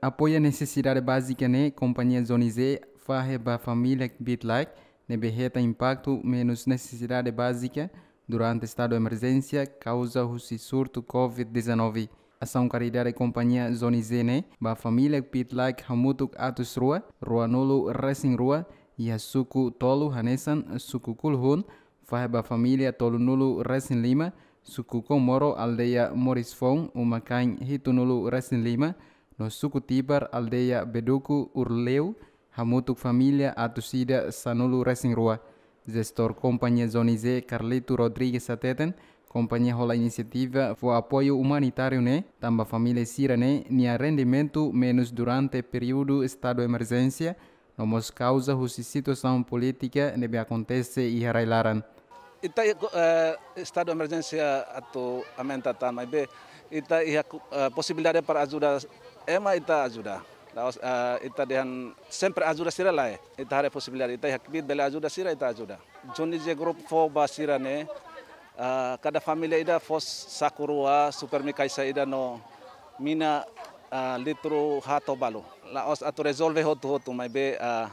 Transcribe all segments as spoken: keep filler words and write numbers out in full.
Apoia nesesidade bázika ne'e, kompañia Zoni Z fahe ba família kbiit-laek ne'ebé hetan impaktu menus nesesidade bázika durante estadu emerjénsia kauza husi surtu covid dezanove. Asaun karidade kompañia Zoni Z ne'e ba família kbiit-laek hamutuk atus rua, ruanulu resin rua, iha suku tolu hanesan suku Kuluhun, fahe ba família tolunulu resin lima, suku Komoro, aldeia Morisfoun, uma-kain hitunulu resin lima, no suku Tibar, aldeia Beduku, Urleu, hamutuk família atus ida sanulu resin rua. Jestór kompañia Zoni Z, Carlito Rodrigues, hateten, kompañia hola inisiativa fó apoiu umanitáriu ne'e tanba família sira-ne'e nia rendimentu menus durante períodu estadu emerjénsia, no mós kauza husi situasaun polítika ne'ebé akontese iha rai-laran. Ita iha, eh, estadu emerjénsia atu aumenta tan, maibé ita iha ku-, eh, posibilidade para ajuda ema, ita ajuda. La'ós, eh, ita dehan sempre ajuda sira lae. Ita haree posibilidade, ita iha kbiit bele ajuda sira, ita ajuda. Zoni Z Group fó ba sira-ne'e, eh, kada família ida fó saku rua, Supermi kaixa ida no mina, eh, litru haat ho balu. La'ós atu rezolve hotu-hotu, maibé, eh,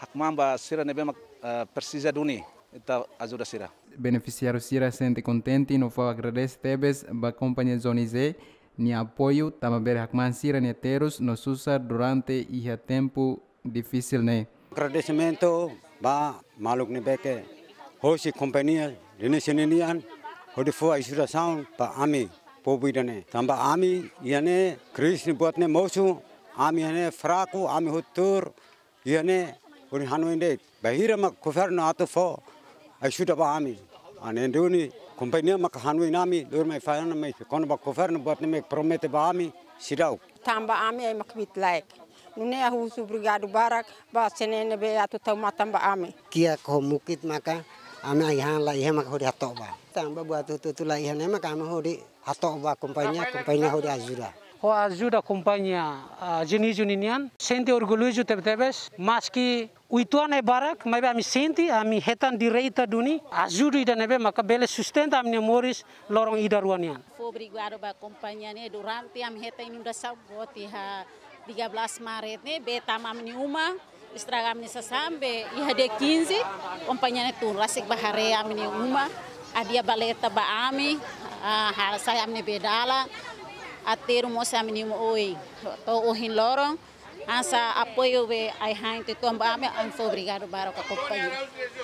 hakmaan ba sira ne'ebé mak, eh, presiza duni, ita ajuda sira. Benefisiáriu sira sente kontente no fó agradese tebes ba kompañia Zoni Z nia apoiu, tanba bele hakmaan sira-nia terus no susar durante iha tempu difisil ne'e. Agradesimentu ba maluk ne'ebé ke hosi kompañia Zoni Z ninian, hodi fó ajudasaun ba ami povu ida-ne'e. Tanba ami iha ne'e krize ne'e buat ne'e mosu, ami iha ne'e fraku, ami hotu tuur iha ne'e, hodi hanoin de'it bainhira mak governu atu fó ajuda ba ami. Hanesan duni, kompañia mak hanoin ami, lori mai fai ona mai, kona-ba governu buat ne'e mak promete ba ami, seidauk. Tanba ami ema kbiit-laek. Nune'e ha'u husu obrigadu barak ba sira ne'ebé atu tau matan ba ami. Kiak ho mukit maka ami ai-han laiha maka hodi hato'o ba. Tanba buat hotu-hotu laiha ne'e maka ami hodi hato'o ba kompañia, kompañia hodi ajuda. Ho ajuda kompañia, ah, Zoni Z ninian, sente orgullozu tebetebes, maski uitoan ne'e barak, maibé ami sente, ami hetan direta duni ajuda ida ne'ebé maka bele sustenta ami-nia moris loron ida rua nian. Fó obrigadu ba kompañia ne'e durante ami hetan inundasaun boot iha tiga belas Maret ne'e, bee tama ami-nia uma, estraga ami-nia sasán, be iha dia quinze, kompañia ne'e tun rasik bá haree ami-nia uma, hadi'a baleta ba ami, ah, hasai ami-nia bee dalan, aterru mós ami-nia uma oin. To'o ohin loron, hanesan apoiu be ai-han uitoan ba ami, ami fó obrigadu barak ba kompañia.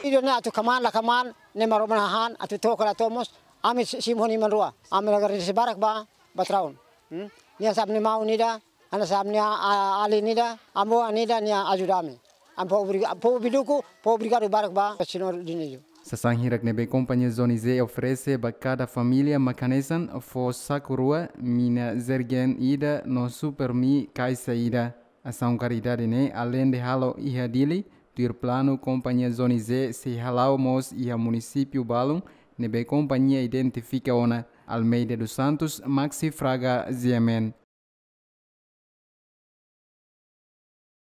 Ida-ne'e atu kmaan la kmaan, ne'e Maromak nia hahán, atu to'o ka la to'o mós, ami si-, simu ho nia manu rua. Ami agradese barak ba, patraun. Hmm? Nia hanesan ami-nia maun ida, hanesan ami-nia, a, alin ida, avó ida nia ajuda ami. Ami fó obriga-, fó obrigadu, fó obrigadu barak ba señór Dionísio. Sasán hirak ne'ebé kompañia Zoni Z oferese ba kada família mak hanesan fó saku rua, mina jergen ida no Supermi kaixa ida. Asaun karidade ne'e aleinde halo iha Dili, tuir planu kompañia Zoni Z sei hala'o mós iha munisípiu balun ne'ebé kompañia identifika ona. Almeida dos Santos, Maxi Fraga, G M N.